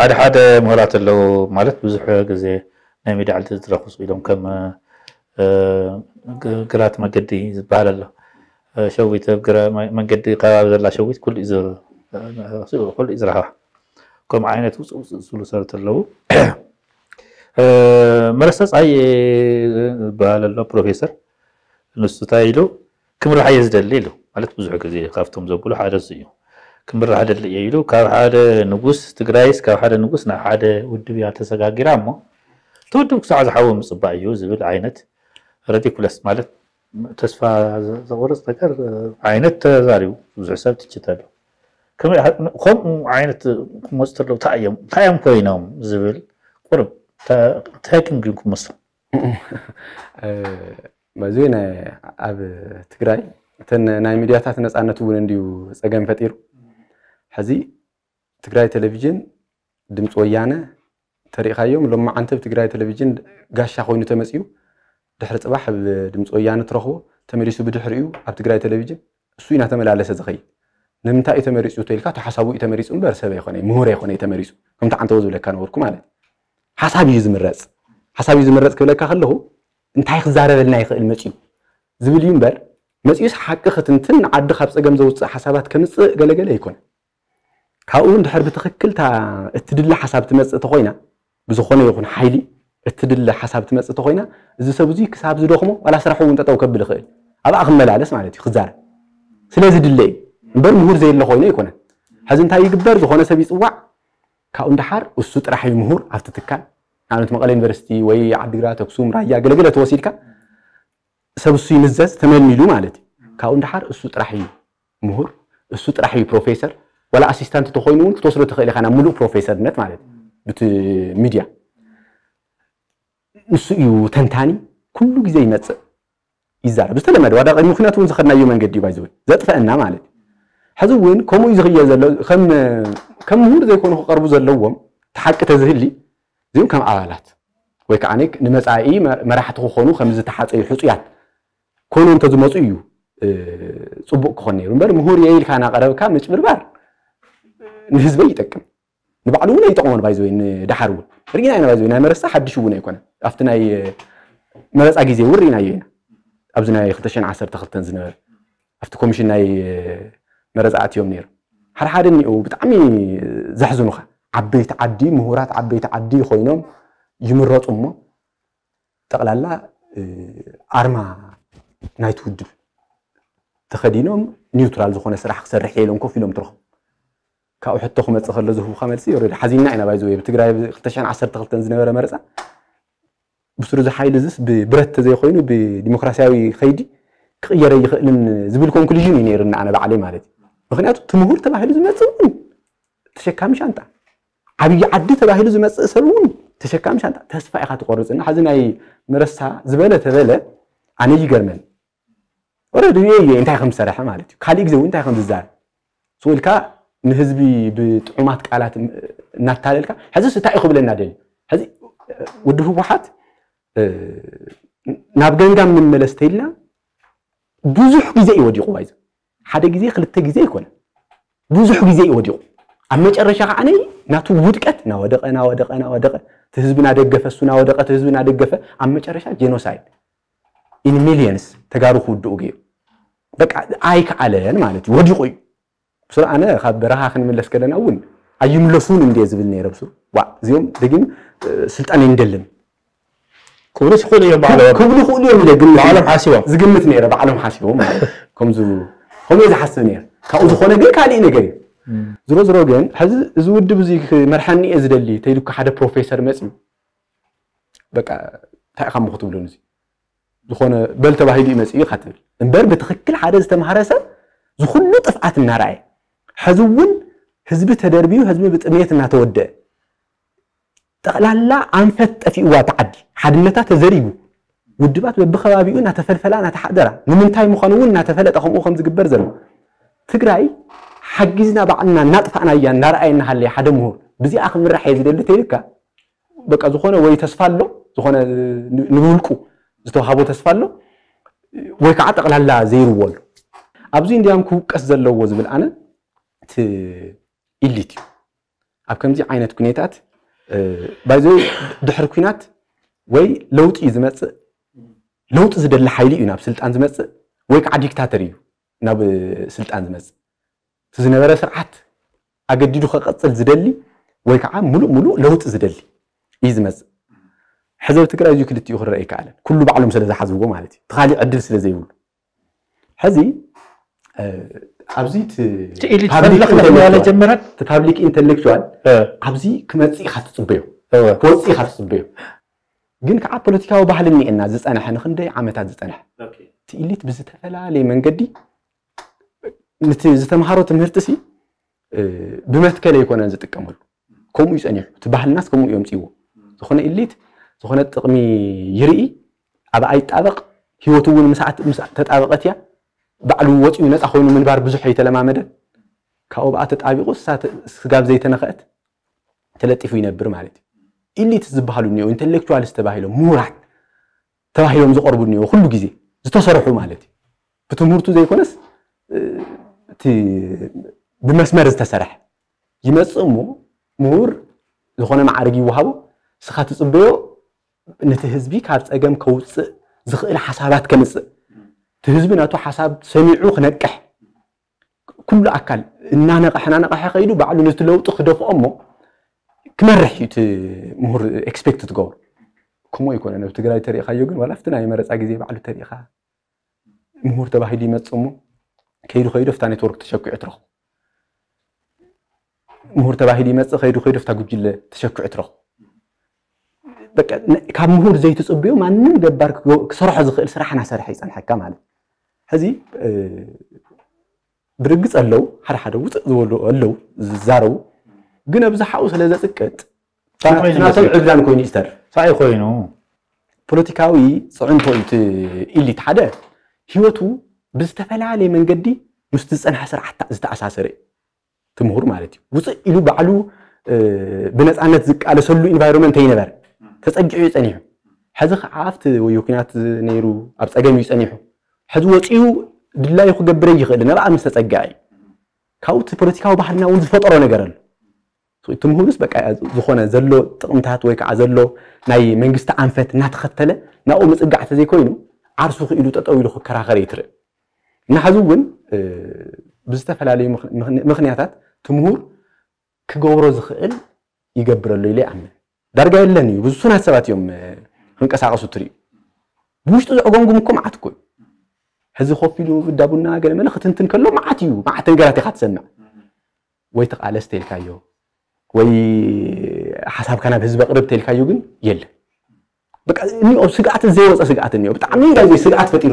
ሓደ ሓደ ምሁራት ኣለዉ፣ ማለት ብዙሕ ግዜ ናይ ሚድያ ዕድል ዝረኽቡ ኢሎም ከም እ፣ ግ- ግራት መገዲ ዝበሃል ኣሎ። እ፣ ሸዊት ኣብ ግራ መ- መንገዲ ከባቢ ዘላ ሸዊት ኩሉ እዩ ዝ- ኩሉ እዩ ዝረኽባ። ከምኡ ዓይነት ውፅእ ውፅእ ዝብሉ ሰባት ኣለዉ። እ፣ መረሳ ፀሃየ ዝበሃል ኣሎ ፕሮፌሰር፣ ንሱ እንታይ ኢሉ፣ ክምራሕ እየ ዝደሊ ኢሉ። ማለት ብዙሕ ግዜ ካብቶም ዘብሉ ሓደ እሱ እዩ። ክምራሕ ደሊ እየ ኢሉ። ካብ ሓደ ንጉስ ትግራይስ ካብ ሓደ ንጉስ ናብ ሓደ ውድብ እያ ተሰጋጊራ እሞ እቲ ውድብ ክሳዕ ዝሓዊ ምፅባእ እዩ ዝብል ዓይነት ረዲኩለስ፣ ማለት ተስፋ ዘ- ዘቑርፅ ነገር ዓይነት ተዛሪቡ። ብዙሕ ሰብ ትችት ኣሎ። ከመይ- ከምኡ ዓይነት ክመፁ ተለዉ እንታይ እዮም እንታይ እዮም ኮይኖም ዝብል ቁርብ እንታይ ግን ክመስል መዚ ኣብ ትግራይ እተን ናይ ሚድያታት ነፃነት እውን እንዲዩ ፀገም ፈጢሩ። ሕዚ ትግራይ ቴሌቪዥን፣ ድምፂ ወያነ ተሪእኻዮም፣ ሎማዓንቲ ኣብ ትግራይ ቴሌቪዥን ጋሻ ኮይኑ ተመፅዩ፣ ድሕሪ ፅባሕ ኣብ ድምፂ ወያነ ትረኽቦ፣ ተመሊሱ ብድሕሪኡ ኣብ ትግራይ ቴሌቪዥን እሱ እዩ እናተመላለሰ ዝኸይድ። ንምንታይ እዩ ተመሪፁ ተይልካ፣ ተሓሳቡ እዩ ተመሪፁ እምበር ሰብ ኣይኮነ፣ ምሁር ኣይኮነ ተመሪፁ። ከምቲ ዓንተቦ ዝብለካ ነበርኩ ማለት እዩ። ሓሳብ እዩ ዝምረፅ። ሓሳብ እዩ ዝምረፅ ክብለካ ከለኹ፣ እንታይ ክዛረበልና ይኽእል መፂኡ ዝብል እዩ እምበር፣ መፂኡስ ሓቂ ክትንትን ንዓዲ ካብ ፀገም ዘውፅእ ሓሳባት ከምፅእ ገለገለ ኣይኮነ። ካብኡ እውን ድሕር ብትኽክል እታ እትድለ ሓሳብ ትመፅእ ተኾይና፣ ብዝኾነ ይኹን ሓይሊ እትድለ ሓሳብ ትመፅእ ተኾይና፣ እዚ ሰብ እዚ ክሳብ ዝደኽሞ ዋላ ስራሑ እውን ጠጠው ከብል ይኽእል፣ ኣብኣ ክመላለስ ማለት እዩ ክዛረብ ስለዚ ድለ እዩ እምበር ምሁር ዘየለ ኮይኑ ኣይኮነን። ሕዚ እንታይ ይግበር? ዝኾነ ሰብ ይፅዋዕ፣ ካብኡ ንደሓር እሱ ጥራሕ እዩ ምሁር ኣብቲ ትካል። ንኣብነት መቐለ ዩኒቨርሲቲ ወይ ዓዲግራት፣ ኣክሱም፣ ራያ ገለገለ ተወሲድካ ሰብ እሱ ይምዘዝ ተመልሚሉ ማለት እዩ። ካብኡ ንደሓር እሱ ጥራሕ እዩ ምሁር፣ እሱ ጥራሕ እዩ ፕሮፌሰር። ዋላ ኣሲስታንት ተኮይኑ እውን ክትወስዶ ትኽእል ኢኻ ናብ ምሉእ ፕሮፌሰርነት ማለት እዩ። ብቲ ሚድያ ንሱ እዩ ተንታኒ፣ ኩሉ ግዜ ይመፅእ ይዛረብ። ዝተለመደ ዋዳ ቅድሚ ኩናት እውን ዝኸድናዮ መንገዲ እዩ ባይዘወይ ዘጥፈአና ማለት እዩ። ሕዚ እውን ከምኡ እዩ ዝኽየድ ዘሎ። ከም ከም ምሁር ዘይኮኑ ክቐርቡ ዘለዎም እቲ ሓቂ ተዝህሊ እዚኦም ከም ኣባላት ወይ ከዓ ንመፃኢ መራሕቲ ክኾኑ ከም ዝተሓፀዩ ሕፁያት ኮይኖም እንተዝመፁ እዩ ፅቡቅ ክኾን ነይሩ እምበር ምሁር እየ ኢልካ እናቀረብካ ምጭብርባር ንህዝበይ ይጠቅም ንባዕሉ እውን ኣይጠቕሞን ባይዘወይ ንደሓር እውን ርኢና ኢና ባይዘወይ ናይ መረሳ ሓድሽ እውን ኣይኮነን ኣብቲ ናይ መረፃ ግዜ እውን ርኢናዮ ኢና ኣብዚ ናይ ክልተ ሽሕን ዓሰርተ ክልተን ዝነበረ ኣብቲ ኮሚሽን ናይ መረፃ ኣትዮም ነይሩ ሓደ ሓደ እኒኡ ብጣዕሚ ዘሕዝኑኻ ዓበይቲ ዓዲ ምሁራት ዓበይቲ ዓዲ ኮይኖም ይምረፁ እሞ ጠቕላላ ኣርማ ናይቲ ውድብ ተኸዲኖም ኒውትራል ዝኾነ ስራሕ ክሰርሕ እየ ኢሎም ኮፍ ኢሎም ትረኽቦም ካብኡ ሕቶ ክመፅእ ከሎ ዝህቡካ መልሲ ኦረዲ ሓዚንና ኢና ባይዘወይ ብትግራይ ክልተ ሽሕን ዓሰርተ ክልተን ዝነበረ መረፃ ብስሩ እዚ ሓይሊ እዚስ ብብረት ተዘይኮይኑ ብዲሞክራሲያዊ ከይዲ ክቕየር ኣይኽእልን ዝብል ኮንክሉዥን እዩ ነይርና ኣነ ባዕለይ ማለት እዩ ምክንያቱ እቲ ምሁር ተባሂሉ ዝመፅእ እውን ተሸካሚ ሻንጣ ዓብዪ ዓዲ ተባሂሉ ዝመፅእ ሰብ እውን ተሸካሚ ሻንጣ ተስፋ ኢኻ ትቆርፅና ሕዚ ናይ መረሳ ዝበለ ተበለ ኣነ ይገርመን ኦረዲ ሪኤ እየ እንታይ ከም ዝሰርሐ ማለት እዩ ካሊእ ግዜ እውን እንታይ ከም ዝዛረብ ስኡ ኢልካ ንህዝቢ ብጥዑማት ቃላት እናታለልካ ሕዚስ እንታይ እዩ ክብለና ደልዩ ሕዚ ውድብ ህወሓት ናብ ገምጋም ንመለስ ተይልና ብዙሕ ግዜ እዩ ወዲቑ ባይዘ ሓደ ግዜ ክልተ ግዜ ኣይኮነ ብዙሕ ግዜ እዩ ወዲቑ ኣብ መጨረሻ ከዓ ነይ ናቱ ውድቀት ናወደቀ ናወደቀ ናወደቀ እቲ ህዝቢ ናደገፈ እሱ ናወደቀ እቲ ህዝቢ ናደገፈ ኣብ መጨረሻ ጀኖሳይድ ኢን ሚሊየንስ ተጋሩ ክውድኡ ገይሩ በቃ ኣይከኣለን ማለት እዩ ወዲቑ እዩ ብሱር ኣነ ካብ በረኻ ክንምለስ ከለና እውን ኣይምለሱን እንደ ዝብል ነይረ ብሱር ዋ እዚኦም ደጊም ስልጣን ይንደልን ክብሉ ይኽእሉ እዮም ባዕሎም ክብሉ ይኽእሉ እዮም ኢለ ግምት ባዕሎም ሓሲቦም ዝግምት ነይረ ባዕሎም ሓሲቦም ማለት እዩ። ከምዚ ከምኡ ዝሓስብ ነይረ ካብኡ ዝኾነ ግን ካሊእ ነገር እዩ ዝሮ ዝሮ ግን ሕዚ እዚ ውድብ እዚ ክመርሓኒ እየ ዝደሊ ተይሉካ ሓደ ፕሮፌሰር መፅዩ በቃ እንታይ ኢኻ ሞ ክትብሉን እዚ ዝኾነ በል ተባሂሉ እዩ መፅኡ ኢኻ ትብል እምበር ብትኽክል ሓደ ዝተምሃረ ሰብ ዝኩሉ ጥፍኣት እናረኣየ ሕዚ እውን ህዝቢ ተደርብዩ ህዝቢ ብጥሜት እናተወደአ ጠቕላላ ኣንፈት ጠፊእዋ እቲ ዓዲ ሓድነታ ተዘሪጉ ውድባት በብከባቢኡ እናተፈልፈላ እናተሓደራ ንምንታይ ምዃኑ እውን እናተፈለጠ ከምኡ ከም ዝግበር ዘሎ ትግራይ ሓጊዝና ባዕልና እናጥፋእናያ እናረኣየ እናሃለየ ሓደ ምሁር ብዚኣ ክምራሕ እየ ዝደሊ ተይልካ በቃ ዝኾነ ወይ ተስፋ ኣሎ ዝኾነ ንብውልቁ ዝተዋሃቦ ተስፋ ኣሎ ወይ ከዓ ጠቕላላ ዘይርዎ ኣሎ ኣብዚ እንዲያም ክውቀስ ዘለዎ ዝብል ኣነ እቲ ኢሊት እዩ ኣብ ከምዚ ዓይነት ኩነታት ባይዘ ድሕሪ ኩናት ወይ ለውጢ እዩ ዝመፅእ፣ ለውጢ ዝደሊ ሓይሊ እዩ ናብ ስልጣን ዝመፅእ፣ ወይ ከዓ ዲክታተር እዩ ናብ ስልጣን ዝመፅእ። እቲ ዝነበረ ስርዓት ኣገዲዱ ከቐፅል ዝደሊ ወይ ከዓ ሙሉእ ሙሉእ ለውጢ ዝደሊ እዩ ዝመፅእ። ሕዚ ኣብ ትግራይ እዚ ክልቲኡ ክረአ ይከኣለን፣ ኩሉ ባዕሎም ስለ ዝሓዝዎ ማለት እዩ፣ እቲ ካሊእ ዕድል ስለ ዘይብሉ። ሕዚ ኣብዚ ጀመረት። እቲ ፓብሊክ ኢንተሌክቹዋል ኣብዚ ክመፅእ ኢካ ትፅበዮ፣ ክወፅእ ኢካ ትፅበዮ። ግን ከዓ ፖለቲካዊ ባህሊ እኒኤና ዝፀንሐ፣ ንክንደይ ዓመታት ዝፀንሐ። እቲ ኢሊት ብዝተፈላለየ መንገዲ ነቲ ዝተምሃሮ ትምህርቲ ሲ ብመትከል ኣይኮነን ዝጥቀመሉ። ከምኡ እዩ ፀኒሑ፣ እቲ ባህልናስ ከምኡ እዮም ፅዎ። ዝኾነ ኢሊት ዝኾነ ጥቕሚ ይርኢ፣ ኣብ ኣይጣበቕ፣ ህይወቱ እውን ምስ ተጣበቐት እያ። ባዕሉ ወፂኡ ነፃ ኮይኑ ምንባር ብዙሕ ኣይተለማመደን። ካብኡ ብኣ ተጣቢቑ ስጋብ ዘይተነኸአት ተለጢፉ ይነብር ማለት እዩ። ኢሊት ዝበሃሉ እኒኦ፣ ኢንተሌክቹዋልስ ተባሂሎም፣ ምሁራት ተባሂሎም ዝቐርቡ እኒኦ፣ ኩሉ ግዜ ዝተሰርሑ ማለት እዩ። ብትምህርቱ ዘይኮነስ እቲ ብመስመር ዝተሰርሐ ይመፅእ እሞ ምሁር ዝኾነ ማዕርግ ይወሃቦ። እስኻ ትፅበዮ ነቲ ህዝቢ ካብ ፀገም ከውፅእ ዝኽእል ሓሳባት ከምፅእ፣ እቲ ህዝቢ ናቱ ሓሳብ ሰሚዑ ክነቅሕ፣ ኩሉ ኣካል እናነቐሐ እናነቐሐ ከይዱ ባዕሉ ነቲ ለውጢ ክደፍኦ እሞ ክመርሕ እዩ እቲ ምሁር ኤክስፔክት ትገብሩ። ከምኡ ኣይኮነን። ኣብ ትግራይ ተሪእኻዮ ግን ዋላ ኣብቲ ናይ መረፃ ግዜ ባዕሉ ተሪእኻ ምሁር ተባሂሉ ይመፅእ እሞ ከይዱ ከይዱ ኣብታ ኔትወርክ ተሸኪዑ ትረኽቦ። ምሁር ተባሂሉ ይመፅእ፣ ከይዱ ከይዱ ኣብታ ጉጅለ ተሸኪዑ ትረኽቦ። በቃ ካብ ምሁር ዘይትፅብዮ ማንም ገባር ክሰርሖ ዝኽእል ስራሕ እናሰርሐ ይፀንሐካ ማለት። ሕዚ ብርግፅ ኣለዉ ሓደ ሓደ ውፅእ ዝበሉ ኣለዉ ዝዛረቡ፣ ግን ኣብዝሓኡ ስለ ዘፅቅጥ ናቶም ዕብዳን ኮይኑ ይስተር ሳይ ኮይኑ ፖለቲካዊ ፅዕንቶ እዩ። ኢሊት ሓደ ህይወቱ ብዝተፈላለየ መንገዲ ምስ ዝፀንሐ ስርዓት ዝተኣሳሰረ እዩ። ትምሁር ማለት እዩ። ውፅእ ኢሉ ባዕሉ ብነፃነት ዝቃለሰሉ ኢንቫይሮንመንት ኣይነበረ፣ ተፀጊዑ እዩ ፀኒሑ። ሕዚ ከዓ ኣብቲ ወይ ኩናት ነይሩ ኣብ ፀገም እዩ ፀኒሑ። ሕዚ ወፂኡ ድላዩ ክገብረ ይኽእል፣ ነብኣ ምስ ተፀግዐ እዩ። ካብኡ እቲ ፖለቲካዊ ባህልና እውን ዝፈጠሮ ነገር ኣሎ። እቲ ምሁርስ በቃ ዝኾነ ዘሎ ጥቕምታት ወይ ከዓ ዘሎ ናይ መንግስቲ ኣንፈት እናተኸተለ ናብኡ ምፅጋዕ ተዘይኮይኑ ዓርሱ ክኢሉ ጠጠው ኢሉ ክከራኸር እዩ ትርኢ። እና ሕዚ እውን ብዝተፈላለዩ ምኽንያታት እቲ ምሁር ክገብሮ ዝኽእል ይገብረሉ ኢለ ይኣምን። ዳርጋ የለን እዩ፣ ብዙሱናት ሰባት እዮም ክንቀሳቀሱ ትርእዩ። ብውሽጡ ዘዕጎምጉም እኮ መዓት እኮ እዩ። ሕዚ ኮፍ ኢሉ እዳ ቡና ገለ መለ ክትንትን ከሎ መዓት እዩ፣ መዓት ነገራት ኢኻ ትሰምዕ። ወይ ተቓለስ ተልካዮ ወይ ሓሳብካ ናብ ህዝቢ ኣቕርብ ተልካዮ ግን የለ። በቃ እኒኦ ስግኣት ዘይወፀ ስግኣት እኒኦ ብጣዕሚ ናይ ስግኣት ፈጢሩ